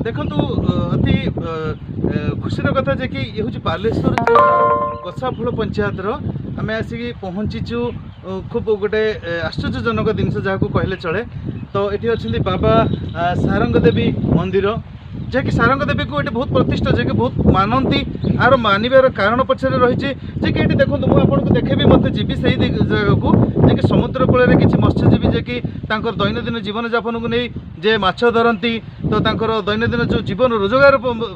ଦେଖନ୍ତୁ, ଅତି ଖୁସିର କଥା ଯେ କି ଇଏ ହେଉଛି ବାଲେଶ୍ୱର କଷାଫଳ ପଞ୍ଚାୟତର ଆମେ ଆସିକି ପହଞ୍ଚିଛୁ। ଖୁବ୍ ଗୋଟେ ଆଶ୍ଚର୍ଯ୍ୟଜନକ ଜିନିଷ ଯାହାକୁ କହିଲେ ଚଳେ। ତ ଏଠି ଅଛନ୍ତି ବାବା ସାରଙ୍ଗ ଦେବୀ ମନ୍ଦିର, ଯାହାକି ସାରଙ୍ଗ ଦେବୀକୁ ଏଠି ବହୁତ ପ୍ରତିଷ୍ଠା, ଯାହାକି ବହୁତ ମାନନ୍ତି। ଆର ମାନିବାର କାରଣ ପଛରେ ରହିଛି ଯେ କି ଏଠି ଦେଖନ୍ତୁ, ମୁଁ ଆପଣଙ୍କୁ ଦେଖେଇବି, ମୋତେ ଯିବି ସେଇ ଜାଗାକୁ ଯେ କି ସମୁଦ୍ର କୂଳରେ କିଛି ମତ୍ସ୍ୟଜୀବୀ ଯେ କି ତାଙ୍କର ଦୈନନ୍ଦିନ ଜୀବନଯାପନକୁ ନେଇ ଯେ ମାଛ ଧରନ୍ତି। ତ ତାଙ୍କର ଦୈନନ୍ଦିନ ଯେଉଁ ଜୀବନ ରୋଜଗାର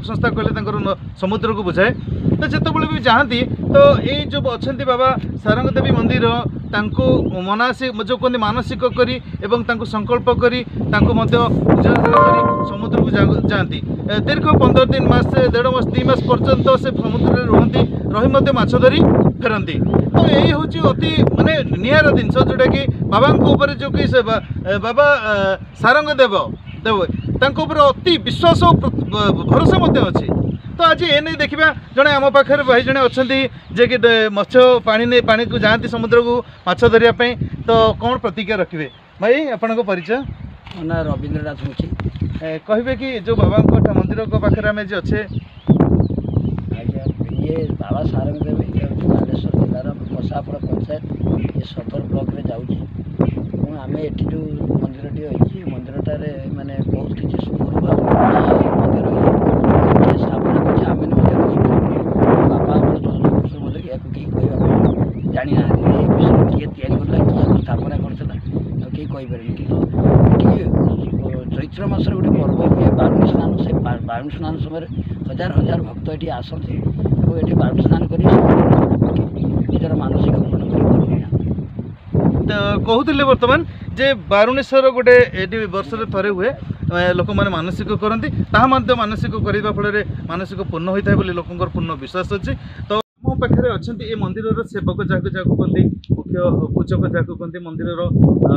ସଂସ୍ଥା କହିଲେ ତାଙ୍କର ସମୁଦ୍ରକୁ ବୁଝାଏ। ତ ଯେତେବେଳେ ବି ଯାଆନ୍ତି, ତ ଏଇ ଯେଉଁ ଅଛନ୍ତି ବାବା ସାରଙ୍ଗ ଦେବୀ ମନ୍ଦିର, ତାଙ୍କୁ ମନାସି ଯେଉଁ କୁହନ୍ତି ମାନସିକ କରି ଏବଂ ତାଙ୍କୁ ସଂକଳ୍ପ କରି ତାଙ୍କୁ ମଧ୍ୟ ପୂଜା ଅର୍ଚ୍ଚନା କରି ସମୁଦ୍ରକୁ ଯାଆନ୍ତି। ଦୀର୍ଘ 15 ଦିନ, ମାସେ, ଦେଢ଼ ମାସ, 2 ମାସ ପର୍ଯ୍ୟନ୍ତ ସେ ସମୁଦ୍ରରେ ରୁହନ୍ତି, ରହି ମଧ୍ୟ ମାଛ ଧରି ଫେରନ୍ତି। ତ ଏଇ ହେଉଛି ଅତି ମାନେ ନିଆରା ଜିନିଷ, ଯେଉଁଟାକି ବାବାଙ୍କ ଉପରେ ଯେଉଁ କି ସେ ବାବା ସାରଙ୍ଗ ଦେବ ତାଙ୍କ ଉପରେ ଅତି ବିଶ୍ୱାସ ଓ ଭରସା ମଧ୍ୟ ଅଛି। ତ ଆଜି ଏ ନେଇ ଦେଖିବା, ଜଣେ ଆମ ପାଖରେ ଭାଇ ଜଣେ ଅଛନ୍ତି ଯିଏକି ମତ୍ସ୍ୟ ପାଣି ନେଇ ପାଣିକୁ ଯାଆନ୍ତି ସମୁଦ୍ରକୁ ମାଛ ଧରିବା ପାଇଁ। ତ କ'ଣ ପ୍ରତିକ୍ରିୟା ରଖିବେ? ଭାଇ, ଆପଣଙ୍କ ପରିଚୟ? ମୋ ନାଁ ରବୀନ୍ଦ୍ରନାଥ ମୁଖୀ। କହିବେ କି ଯେଉଁ ବାବାଙ୍କ ମନ୍ଦିରଙ୍କ ପାଖରେ ଆମେ ଆଜି ଅଛେ? ଆଜ୍ଞା, ଇଏ ବାବା ସାରଙ୍ଗ ଦେବ, ଇଏ ହେଉଛି ବାଲେଶ୍ୱର ଜିଲ୍ଲାର କଷାଫଳ ପଞ୍ଚାୟତ, ଇଏ ସଦର ବ୍ଲକରେ ଯାଉଛି। ଏବଂ ଆମେ ଏଠି ଯେଉଁ ମନ୍ଦିରଟି ରହିଛି, ଏ ମନ୍ଦିରଟାରେ ମାନେ ବହୁତ କିଛି ପୂର୍ବ ମନ୍ଦିର ଇଏ କିଏ ସ୍ଥାପନା କରିଛି ଆମେ ମଧ୍ୟ କହିପାରିବୁ। ବାପା ଆମର 14 ବର୍ଷ ମଧ୍ୟ ଏହାକୁ କେହି କହିବା ପାଇଁ ଜାଣିନାହାନ୍ତି। ଏ ବିଷୟରେ କିଏ ତିଆରି କରିଥିଲା, କିଏ ଏହାକୁ ସ୍ଥାପନା କରିଥିଲା, ଆଉ କେହି କହିପାରିବେନି। କିନ୍ତୁ ଏଠି ଚୈତ୍ର ମାସରେ ଗୋଟେ ପର୍ବ ହୁଏ ବାରୁଣୀ ସ୍ନାନ। ସେ ବାରୁଣୀ ସ୍ନାନ ସମୟରେ ହଜାର ହଜାର ଭକ୍ତ ଏଠି ଆସନ୍ତି ଏବଂ ଏଠି ବାରୁଣୀ ସ୍ନାନ କରି ସମୁଦ୍ରରେ ବୁଡ଼ ପକାଇ ନିଜର ମାନସିକ ପୂରଣ କରି ଘରକୁ ଯାଆନ୍ତି। ତ କହୁଥିଲେ ବର୍ତ୍ତମାନ ଯେ ବାରୁଣେଶ୍ୱର ଗୋଟେ ଏଠି ବର୍ଷରେ ଥରେ ହୁଏ, ଲୋକମାନେ ମାନସିକ କରନ୍ତି, ତାହା ମଧ୍ୟ ମାନସିକ କରିବା ଫଳରେ ମାନସିକ ପୂର୍ଣ୍ଣ ହୋଇଥାଏ ବୋଲି ଲୋକଙ୍କର ପୂର୍ଣ୍ଣ ବିଶ୍ୱାସ ଅଛି। ତ ମୋ ପାଖରେ ଅଛନ୍ତି ଏ ମନ୍ଦିରର ସେବକ, ଯାହାକୁ କୁହନ୍ତି ମୁଖ୍ୟ ପୂଜକ, ଯାହାକୁ କୁହନ୍ତି ମନ୍ଦିରର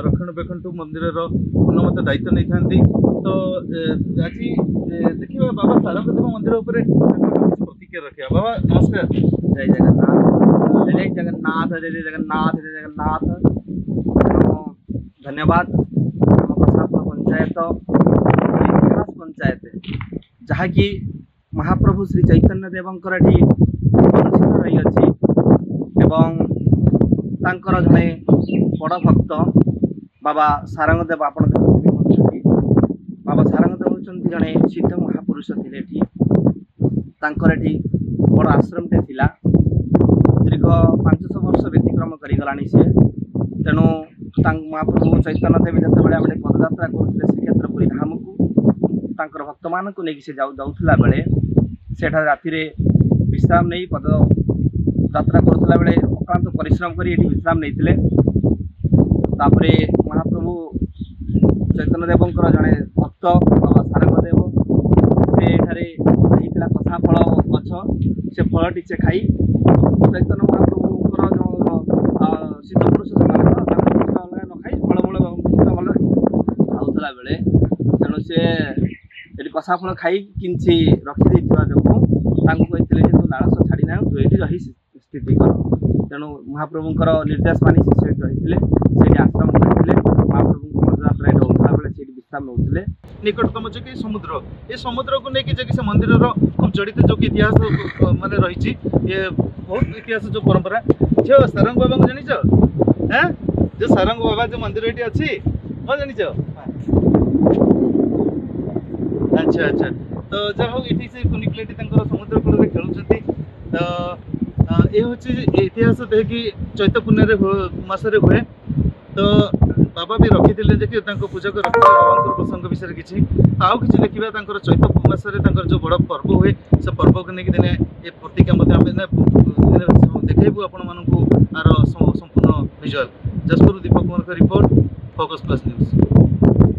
ରକ୍ଷଣାବେକ୍ଷଣଠୁ ମନ୍ଦିରର ପୂର୍ଣ୍ଣ ମଧ୍ୟ ଦାୟିତ୍ୱ ନେଇଥାନ୍ତି। ତ ଆଜି ଦେଖିବା ବାବା ସାରଙ୍ଗଦେବ ମନ୍ଦିର ଉପରେ ତାଙ୍କର କିଛି ପ୍ରତିକ୍ରିୟା ରଖିବା। ବାବା ନମସ୍କାର। ଜୟ ଜଗନ୍ନାଥ, ଜୟ ଜଗନ୍ନାଥ, ଜୟ ଜୟ ଜଗନ୍ନାଥ, ଜୟ ଜଗନ୍ନାଥ। ତେଣୁ ଧନ୍ୟବାଦ। ଆମ କଷାଫଳ ପଞ୍ଚାୟତ ଇତିହାସ ପଞ୍ଚାୟତ, ଯାହାକି ମହାପ୍ରଭୁ ଶ୍ରୀ ଚୈତନ୍ୟ ଦେବଙ୍କର ଏଠି ଅନୁଷ୍ଠିତ ରହିଅଛି ଏବଂ ତାଙ୍କର ଜଣେ ବଡ଼ ଭକ୍ତ ବାବା ସାରଙ୍ଗ ଦେବ। ଆପଣ ଦେଖୁଥିବେ ମନ୍ଦିରଟି। ବାବା ସାରଙ୍ଗ ଦେବ ହେଉଛନ୍ତି ଜଣେ ସିଦ୍ଧ ମହାପୁରୁଷ ଥିଲେ। ଏଠି ତାଙ୍କର ଏଠି ବଡ଼ ଆଶ୍ରମଟେ ଥିଲା। ଦୀର୍ଘ 500 ବର୍ଷ ବ୍ୟତିକ୍ରମ କରିଗଲାଣି ସେ। ତେଣୁ ତାଙ୍କ ମହାପ୍ରଭୁ ଚୈତନ୍ୟ ଦେବ ଯେତେବେଳେ ଆମେ ପଦଯାତ୍ରା କରୁଥିଲେ ଶ୍ରୀକ୍ଷେତ୍ର ପୁରୀ ଧାମକୁ, ତାଙ୍କର ଭକ୍ତମାନଙ୍କୁ ନେଇକି ସେ ଯାଉଥିଲା ବେଳେ ସେଠାରେ ରାତିରେ ବିଶ୍ରାମ ନେଇ ପଦଯାତ୍ରା କରୁଥିଲା ବେଳେ ଅକ୍ଳାନ୍ତ ପରିଶ୍ରମ କରି ଏଠି ବିଶ୍ରାମ ନେଇଥିଲେ। ତାପରେ ମହାପ୍ରଭୁ ଚୈତନ୍ୟ ଦେବଙ୍କର ଜଣେ ଭକ୍ତ ବାବା ସାରଙ୍ଗ ଦେବ, ସେ ଏଠାରେ ହେଇଥିଲା କଷା ଫଳ ଗଛ, ସେ ଫଳଟି ସେ ଖାଇ ଚୈତନ୍ୟ ମହାପ୍ରଭୁଙ୍କର ଯେଉଁ ସିଦ୍ଧ ପୁରୁଷ ସେମାନେ ତ ତାଙ୍କ କିଛି ଅଲଗା ନ ଖାଇ ଫଳମୂଳ ଭଲ ଖାଉଥିଲା ବେଳେ, ତେଣୁ ସେ ଏଠି କଷା ଫଳ ଖାଇ କିଛି ରଖିଦେଇଥିବା ଯୋଗୁଁ ତାଙ୍କୁ କହିଥିଲେ ଯେ ତୁ ଲାଳସ ଛାଡ଼ି ନାହୁଁ, ତୁ ଏଇଠି ରହି ସ୍ଥିତି କର। ତେଣୁ ମହାପ୍ରଭୁଙ୍କର ନିର୍ଦ୍ଦେଶ ମାନି ସେ ସେଇଠି ରହିଥିଲେ, ସେଇଠି ଆଶ୍ରମ କରିଥିଲେ। ମହାପ୍ରଭୁଙ୍କ ପଦଯାତ୍ରା ଏଠି ହେଉଥିଲା ବେଳେ ସେଇଠି ବିଶ୍ରାମ ନେଉଥିଲେ। ନିକଟତମ ଯେ କି ସମୁଦ୍ର, ଏ ସମୁଦ୍ରକୁ ନେଇକି ଯେ କି ସେ ମନ୍ଦିରର ଖୁବ୍ ଜଡ଼ିତ ଯେଉଁ କି ଇତିହାସ ମାନେ ରହିଛି, ଇଏ ବହୁତ ଇତିହାସ ଯେଉଁ ପରମ୍ପରା। ଝିଅ, ସାରଙ୍ଗ ବାବାଙ୍କୁ ଜାଣିଛ? ହେଁ, ଯୋଉ ସାରଙ୍ଗ ବାବା ଯୋଉ ମନ୍ଦିର ଏଠି ଅଛି, ହଁ ଜାଣିଛ? ଆଚ୍ଛା। ତ ଯାହା ହଉ, ଏଠି ସେ କୁନି ପିଲାଟି ତାଙ୍କର ସମୁଦ୍ର କୂଳରେ ଖେଳୁଛନ୍ତି। ତ ଏ ହେଉଛି ଇତିହାସ ଦେଇକି ଚୈତ ପୂର୍ଣ୍ଣିମାରେ ମାସରେ ହୁଏ। ତ ବାବା ବି ରଖିଥିଲେ ଯେ କି ତାଙ୍କ ପୂଜକ ରଖିଥିଲେ ବାବାଙ୍କର ପ୍ରସଙ୍ଗ ବିଷୟରେ କିଛି। ଆଉ କିଛି ଦେଖିବା, ତାଙ୍କର ଚୈତ ମାସରେ ତାଙ୍କର ଯେଉଁ ବଡ଼ ପର୍ବ ହୁଏ, ସେ ପର୍ବକୁ ନେଇକି ଦିନେ ଏ ପ୍ରତିଜ୍ଞା ମଧ୍ୟ ଆମେ ଦିନେ ଦେଖେଇବୁ ଆପଣମାନଙ୍କୁ ଆର ସମ୍ପୂର୍ଣ୍ଣ ଭିଜୁଆଲ। ଯାଜପୁର ଦୀପକ କୁମାରଙ୍କ ରିପୋର୍ଟ, ଫୋକସ୍ ପ୍ଲସ୍ ନ୍ୟୁଜ୍।